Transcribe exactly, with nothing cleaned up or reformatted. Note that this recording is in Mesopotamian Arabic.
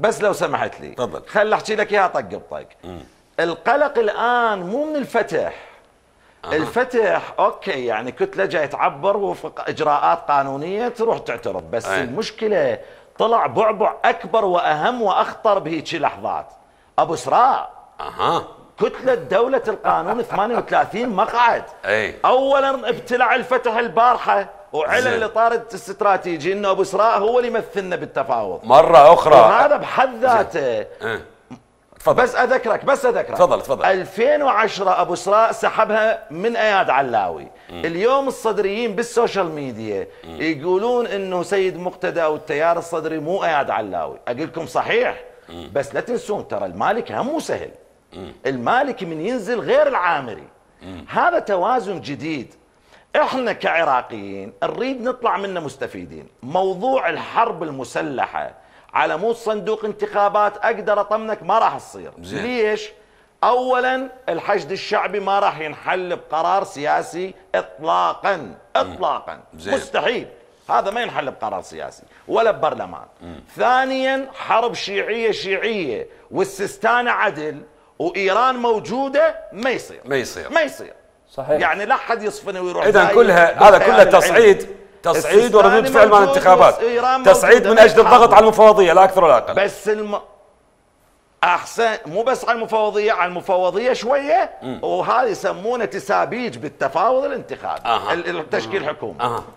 بس لو سمحت لي تفضل. خل احكي لك اياها طق بطق. القلق الان مو من الفتح. أه. الفتح اوكي يعني كتله جاي تعبر وفق اجراءات قانونيه تروح تعترض، بس أي. المشكله طلع بعبع اكبر واهم واخطر بهيك لحظات. ابو اسراء اها كتله دوله القانون ثمانية وثلاثين مقعد. اي اولا ابتلع الفتح البارحه وعلن الاطار الاستراتيجي انه ابو اسراء هو اللي يمثلنا بالتفاوض مره اخرى، وهذا بحد ذاته. أه. تفضل. بس اذكرك بس اذكرك تفضل تفضل. ألفين وعشرة ابو اسراء سحبها من اياد علاوي. م. اليوم الصدريين بالسوشيال ميديا م. يقولون انه سيد مقتدى او التيار الصدري مو اياد علاوي. اقول لكم صحيح م. بس لا تنسون ترى المالك هم مو سهل. م. المالك من ينزل غير العامري. م. هذا توازن جديد احنا كعراقيين نريد نطلع منه مستفيدين. موضوع الحرب المسلحه على مود صندوق انتخابات اقدر اطمنك ما راح تصير. زين. ليش؟ اولا الحشد الشعبي ما راح ينحل بقرار سياسي اطلاقا اطلاقا. زين. مستحيل هذا ما ينحل بقرار سياسي ولا ببرلمان. مم. ثانيا حرب شيعيه شيعيه والسيستان عدل وايران موجوده ما يصير ما يصير ما يصير صحيح. يعني لا احد يصفن ويروح. اذا كلها هذا كله تصعيد تصعيد وردود فعل مال الانتخابات، تصعيد من اجل الضغط على المفوضيه لا اكثر ولا اقل. بس الم... احسن مو بس على المفوضيه، على المفوضيه شويه. مم. وهذا يسمونه تسابيج بالتفاوض الانتخابي. أه. التشكيل حكومي. أه.